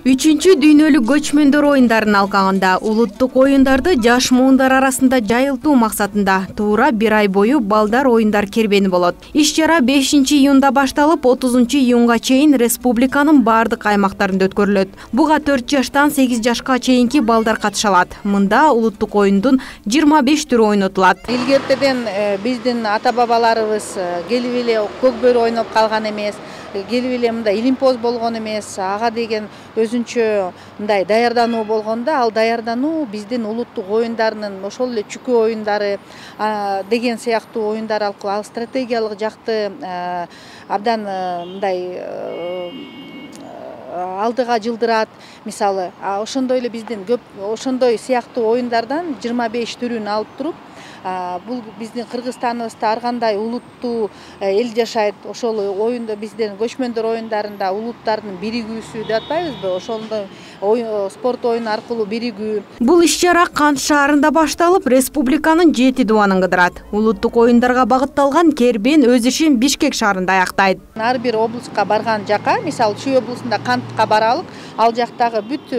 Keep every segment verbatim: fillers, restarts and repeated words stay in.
үчүнчү дүйнөлүк көчмөндөр оюндарын алкагында улуттук оюндарды жаш муундар арасында жайылтуу максатында туура бир ай бою балдар оюндар кербени болот. Иш-чара бешинчи июнда башталып, отузунчу июнга чейин республиканын бардык аймактарында өткөрүлөт. Буга төрт жаштан сегиз жашка чейинки балдар катыша алат. Мында улуттук оюндун жыйырма беш түрү ойнотулат. Илгертеден биздин ата-бабаларыбыз келип эле көк бөрү ойноп калган эмес. Келип эле мындай илимпоз болгон эмес, ага деген өзүнчө мындай даярдануу болгондо, ал даярдануу биздин улуттук оюндарынын ошол эле чүкө оюндары деген сыяктуу оюндар аркылуу ал стратегиялык жакты абдан мындай алдыга жылдырат. Мисалы, ошондой эле биздин көп ошондой сыяктуу оюндардан жыйырма беш түрүн алып туруп, бул биздин Кыргызстаныбызда ар кандай улуттуу эл жашайт. Ошол оюнда биздин көчмөндөр оюндарында улуттардын биригүүсү деп атпайбызбы? Ошондой спорт оюну аркылуу биригүү. Бул иш-чара Кант шаарында башталып, республиканын жети дубанын кыдырат. Улуттук оюндарга багытталган кербен өз ишин Бишкек шаарында аяктайт. Ар бир облуска барган жака, мисалы Чүй облусунда Кантка баралык, ал жактагы бүт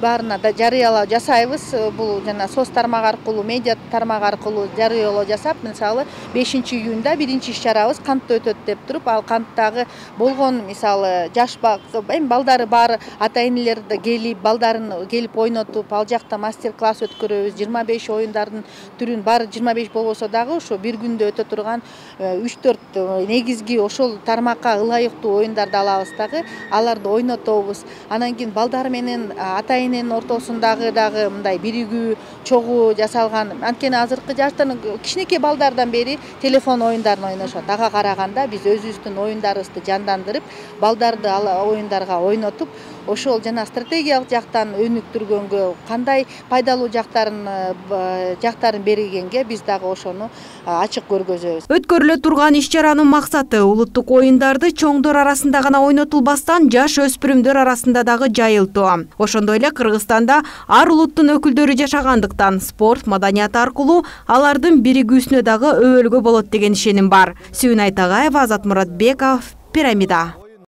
баарына да жарыялоо жасайбыз. Бул жана соц тармак аркылуу, медиа тармак аркылуу жарыялоо жасап, мисалы бешинчи июнда биринчи иш-чарабыз Кантта өтөт деп туруп, ал Канттагы болгон мисалы жаш эми балдары бар ата-энелер да келип, балдарын келип ойнотуп, ал жакта мастер-класс өткөрөбүз. жыйырма беш оюндардын түрүн баары жыйырма беш болбосо дагы ошо бир күндө өтө турган үч төрт негизги ошол тармакка ылайыктуу оюндарды алабыз дагы, аларды ойнотобуз. Анан кийин балдар менен ата-эненин ортосундагы дагы мындай биригүү, чогуу жасалган. Анткени азыркы жаштардын кичинекей балдардан бери телефон оюндарын ойношот. Ага караганда биз өзүбүздүн оюндарыбызды жандандырып, балдарды ал оюндарга ойнотуп, ошол жана стратегиялык жактан өнүктүргөнгө, кандай пайдалуу жактарын жактарын бергенге биз дагы ошону ачык көргөзөбүз. Өткөрүлө турган иш-чаранын максаты улуттук оюндарды чоңдор арасында гана ойнотулбастан, жаш өспүрүмдөр арасында дагы жайылтуу. Ошондой эле Кыргызстанда ар улуттун өкүлдөрү жашагандыктан спорт маданияты аркылуу алардын биригүүсүнө дагы өбөлгө болот деген ишеним бар. Сүйүн Айтагаева, Азат Муратбеков, Пирамида.